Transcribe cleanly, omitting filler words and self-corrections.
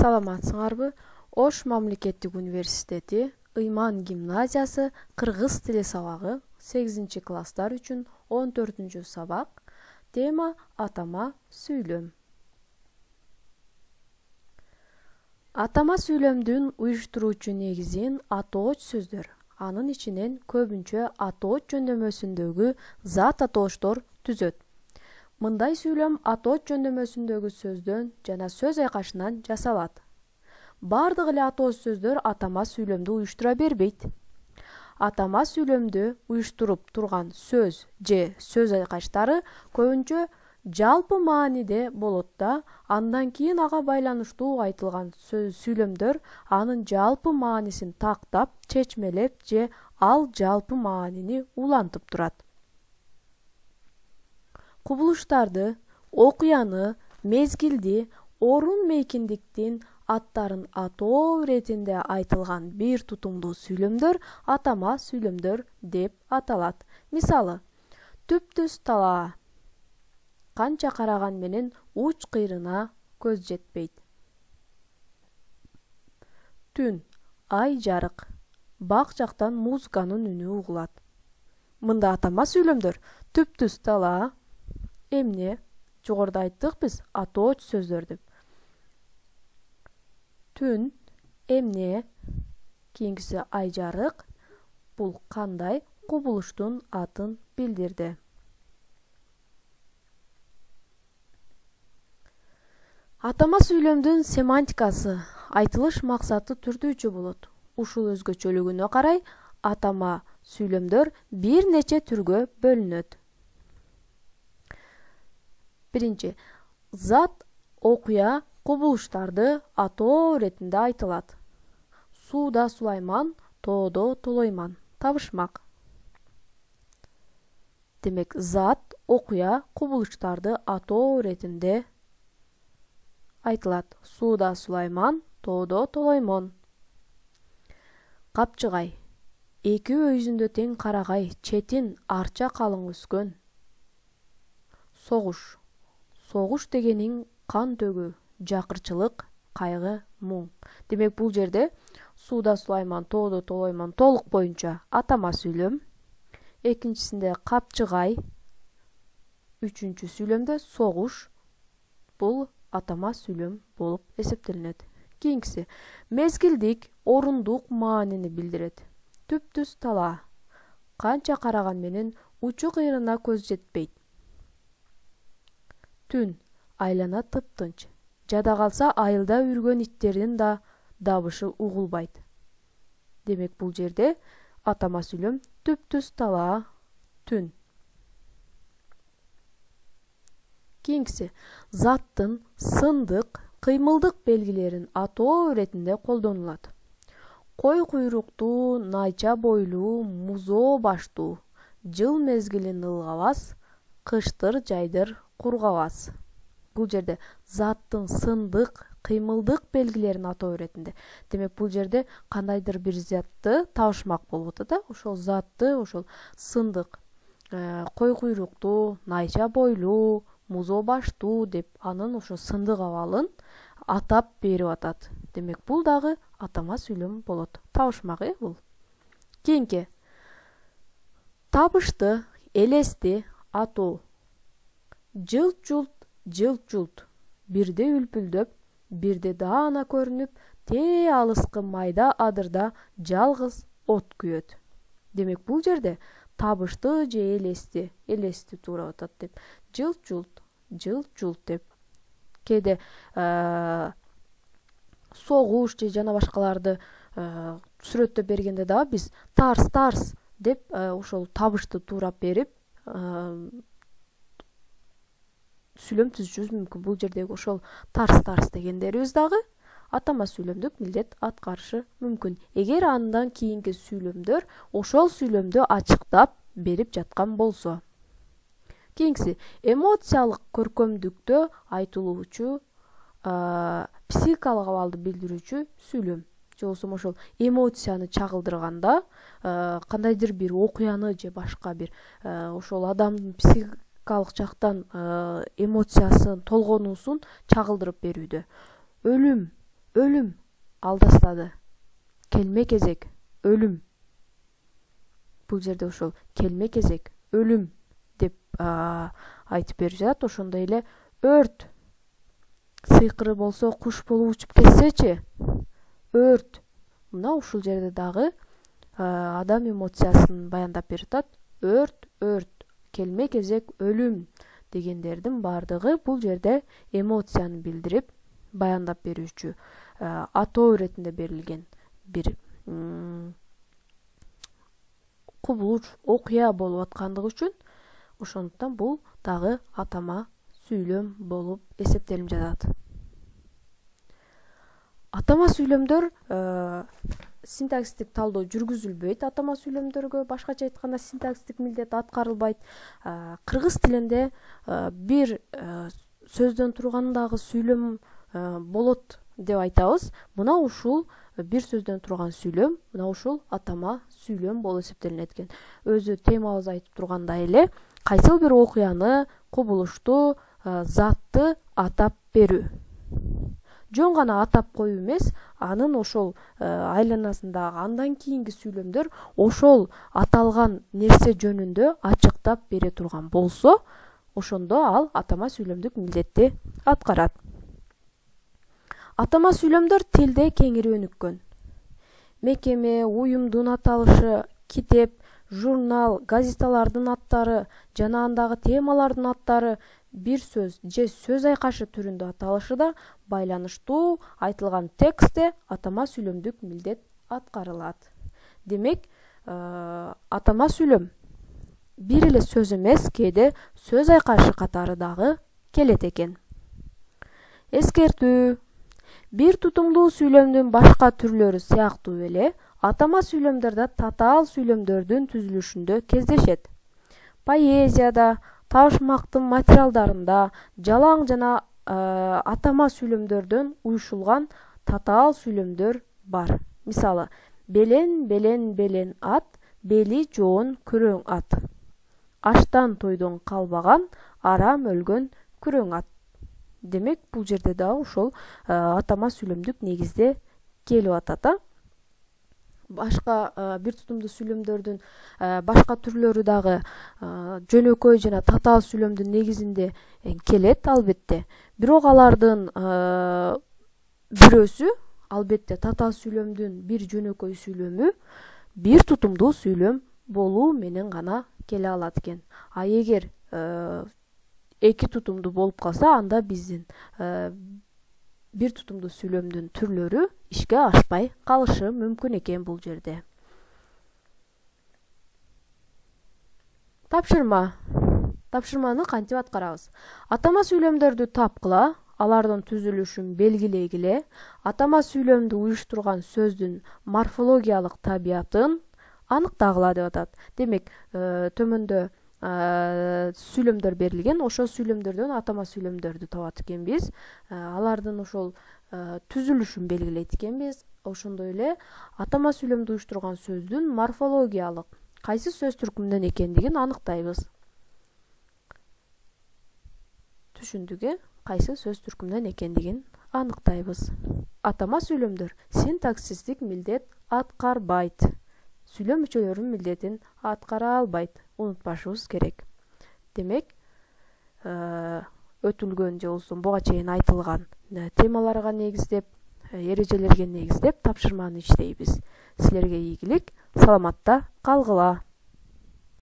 Саламатсыңарбы? Ош мамлекеттик университети Ыйман гимназиясы кыргыз тили сабагы 8 класстар үчүн 14 сабак. Тема атама сүйлөм. Атама сүйлөмдүн уюштуруучу негизин атооч сөздөр. Анын ичинен көбүнчө атооч жөндөмөсүндөгү зат атооштор түзөт. Мындай сүйлөм атооч жөндөмөсүндөгү сөздөн жана сөз айкашынан жасалат. Бардык эле атооч сөздөр атама сүйлөмдү уюштура бербейт. Атама сүйлөмдү уюштуруп турган сөз же сөз айкаштары көбүнчө жалпы мааниде болот да, андан кийин ага байланыштуу айтылган сүйлөмдөр анын жалпы маанисин тактап, чечмелеп же ал жалпы маанини улантып турат. Кубулуштарды, окуяны, мезгилди, орун мейкиндиктин аттарын атоо иретинде айтылган бир тутумдуу сүйлөмдөр атама сүйлөмдөр деп аталат. Мисалы, түп-түз талаа. Канча караган менен уч кыйрына көз жетпейт. Түн, ай жарык. Бак жактан музыканын үнү угулат. Мында атама сүйлөмдөр түп-түз талаа, эмне, жогоруда айттык биз атооч сөздөр деп. Түн, эмне, кийинкиси ай жарык. Бул кандай кубулуштун атын билдирди. Атама сүйлөмдүн семантикасы, айтылыш максаты түрдүүчө болот. Ушул өзгөчөлүгүнө карай атама сүйлөмдөр бир нече түргө бөлүнөт. Биринчи, зат, окуя, кубулуштарды атоо иретинде айтылат. Сууда Сулайман, тоодо Толойман. Табышмак. Демек, зат, окуя, кубулуштарды атоо иретинде айтылат. Сууда Сулайман, тоодо Толоймон. Капчыгай. Эки өйүзүндө тең карагай, четин арча калың өскөн. Согуш. Согуш дегениң кан төгүү, жакырчылык, кайгы, муң. Демек, бул жерде Сууда Сулайман, тоодо Толоймон толук боюнча атама сүйлөм. Экинчисинде капчыгай. Үчүнчү сүйлөмдө согуш. Бул атама сүйлөм болуп эсептелинет. Кийинкиси мезгилдик, орундук маанини билдирет. Түп-түз талаа. Канча караган менен учу кыйрына көз жетпейт. Түн, айлана тыптынч. Жада калса айылда үргөн иттердин да дабышы угулбайт. Демек, бул жерде атама сүйлөм түп-түз талаа, түн. Кийинкиси заттын сындык, кыймылдык белгилерин атоо иретинде колдонулат. Кой куйруктуу, найча бойлуу, музоо баштуу, жыл мезгилин ылгабас, кыштыр жайдыр кургабас. Бул жерде заттын сындык, кыймылдык белгилерин атоо иретинде. Демек, бул жерде кандайдыр бир затты табышмак болуп атат да, ошол затты, ошол сындык, кой куйруктуу, найча бойлуу, музоо баштуу деп анын ошо сындык абалын атап берип атат. Демек, бул дагы атама сүйлөм болот. Табышмак бул. Кийинки табышты, элести атоо. Жылт-жулт, жылт-жулт. Бирде үлпүлдөп, бирде даана көрүнүп, тээ алыскы майда адырда жалгыз от күйөт. Демек, бул жерде табышты же элести туура атат деп. Жылт-жулт, жылт-жулт деп. Кээде согуш же жана башкаларды сүрөттөп бергенде дагы биз тарс деп ошол табышты туурап берип сүйлөм түзүшүбүз мүмкүн. Бул жердеги ошол тарс дегендерибиз дагы атама сүйлөмдүк милдет аткарышы мүмкүн. Эгер андан кийинки сүйлөмдөр ошол сүйлөмдү ачыктап берип жаткан болсо. Кийинкиси эмоциялык көркөмдүктө айтылуучу психикалык абалды билдирүүчү сүйлөм. Же болбосо ошол эмоцияны чагылдырганда кандайдыр бир окуяны же башка бир ошол адамдын психикалык жактан эмоциясын, толгонуусун чагылдырып берүүдө. Өлүм, өлүм алдастады. Келме кезек өлүм. Бул жерде ошол келме кезек өлүм деп айтып берип жатат. Ошондой эле өрт. Сыйкыры болсо куш болуп учуп кетсечи, өрт. Мына ушул жерде дагы адам эмоциясын баяндап берип атат. Өрт, келме кезек өлүм дегендердин бардыгы бул жерде эмоцияны билдирип баяндап берүүчү атоо иретинде берилген бир кубулуш, окуя болуп аткандыгы үчүн ошондуктан бул дагы атама сүйлөм болуп эсептелип жатат. Атама сүйлөмдөр синтаксистик талдоо жүргүзүлбөйт. Атама сүйлөмдөргө башкача айтканда синтаксистик милдет аткарылбайт. Кыргыз тилинде бир сөздөн турган дагы сүйлөм болот деп айтабыз. Мына ушул бир сөздөн турган сүйлөм, мына ушул атама сүйлөм болуп эсептелинет экен. Өзү темабыз айтып тургандай эле кайсыл бир окуяны, кубулушту, затты атап берүү. Жөн гана атап коюу эмес, анын ошол айланасындагы андан кийинки сүйлөмдөр ошол аталган нерсе жөнүндө ачыктап бере турган болсо, ошондо ал атама сүйлөмдүк милдетти аткарат. Атама сүйлөмдөр тилде кеңири өнүккөн. Мекеме, уюмдун аталышы, китеп, журнал, газеталардын аттары жана андагы темалардын аттары бир сөз же сөз айкашы түрүндө аталышы да байланыштуу айтылган текстте атама сүйлөмдүк милдет аткарылат. Демек, атама сүйлөм бир эле сөз эмес, кээде сөз айкашы катары дагы келет экен. Эскертүү: бир тутумдуу сүйлөмдүн башка түрлөрү сыяктуу эле атама сүйлөмдөр да татаал сүйлөмдөрдүн түзүлүшүндө кездешет. Поэзияда, табышмактын материалдарында жалаң жана атама сүйлөмдөрдөн уюшулган татаал сүйлөмдөр бар. Мисалы, белен ат, бели жоон күрөң ат. Аштан тойдон калбаган, арам өлгөн күрөң ат. Демек, бул жерде дагы ошол атама сүйлөмдүк негизде келип атат. Башка бир тутумдуу сүйлөмдөрдүн башка түрлөрү дагы жөнөкөй жана татаал сүйлөмдүн негизинде келет, албетте. Бирок алардын бирөөсү, албетте, татаал сүйлөмдүн бир жөнөкөй сүйлөмү бир тутумдуу сүйлөм болуу менен гана келе алат экен. А эгер эки тутумдуу болуп калса, анда биздин бир тутумдуу сүйлөмдүн түрлөрү ишке ашпай калышы мүмкүн экен бул жерде. Тапшырма. Тапшырманы кантип аткарабыз? Атама сүйлөмдөрдү тапкыла, алардын түзүлүшүн белгилегиле, атама сүйлөмдү уюштурган сөздүн морфологиялык табиятын аныктагыла деп атат. Демек, төмөндө сүйлөмдөр берилген, ошол сүйлөмдөрдөн атама сүйлөмдөрдү табат экенбиз. Алардын ошол түзүлүшүн белгилейт экенбиз. Ошондой эле атама сүйлөмдү уюштурган сөздүн морфологиялык кайсы сөз түркүмүнөн экендигин аныктайбыз. Түшүндүк, кайсы сөз түркүмүнөн экендигин аныктайбыз. Атама сүйлөмдөр синтаксистик милдет аткарбайт. Сүйлөм мүчөлөрүнүн милдетин аткара албайт. Унутпашыбыз керек. Демек, өтүлгөн же болбосо буга чейин айтылган темаларга негиздеп, эрежелерге негиздеп тапшырманы иштейбиз. Силерге ийгилик, саламатта калгыла.